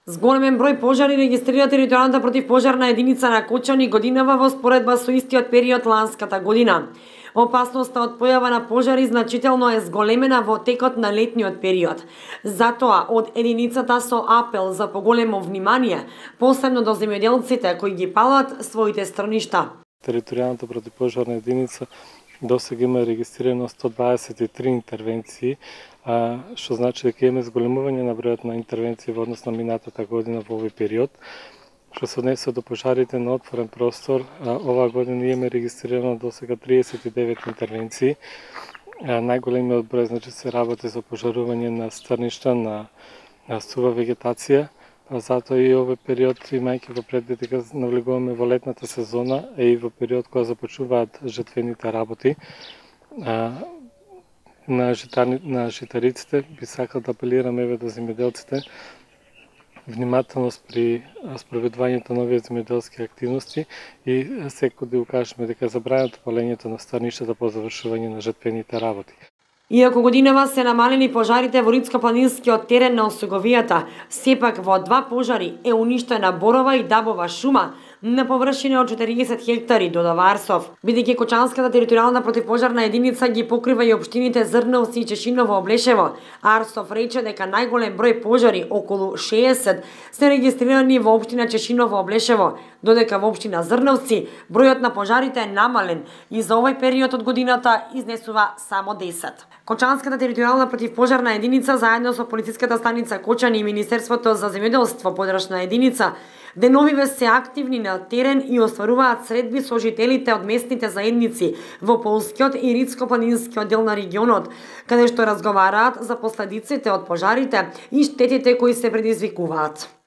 Зголемен број пожари регистрира територијалната противпожарна единица на Кочани годинава во споредба со истиот период ланската година. Опасноста од појава на пожари значително е зголемена во текот на летниот период. Затоа од единицата со апел за поголемо внимание, посебно до земјоделците кои ги палат своите стрништа. Територијалната противпожарна единица досега има регистрирано 123 интервенции, што значи дека имаме зголемување на бројот на интервенции во однос на минатата година во овој период. Што се однесе до пожарите на отворен простор, оваа година имаме регистрирано досега 39 интервенции. Најголемиот број значи се работи за пожарување на стрништа, на сува вегетација. Затоа и овој период, имајќи во предвид дека навлегуваме во летната сезона, и во период кога започнуваат жетвените работи, на житариците би сакал да апелираме до земјоделците внимателност при спроведувањето на овие земјоделски активности и секој да укажеме дека забрањето палењето на стрништата по завршување на жетвените работи. Иако годинава се намалени пожарите во Рицко-планинскиот терен на Осоговијата, сепак во два пожари е уништена борова и дабова шума на површина од 40 хектари до Даварсов. Бидејќи Кочанската територијална противпожарна единица ги покрива и општините Зрновци и Чешиново Облешево, Арсов рече дека најголем број пожари, околу 60, се регистрирани во општина Чешиново Облешево, додека во општина Зрновци бројот на пожарите е намален и за овој период од годината изнесува само 10. Кочанската територијална противпожарна единица заедно со полициската станица Кочани и Министерството за земјоделство подрачна единица деновиве се активни на терен и остваруваат средби со жителите од местните заедници во Полскиот и Рицко-планинскиот дел на регионот, каде што разговараат за последиците од пожарите и штетите кои се предизвикуваат.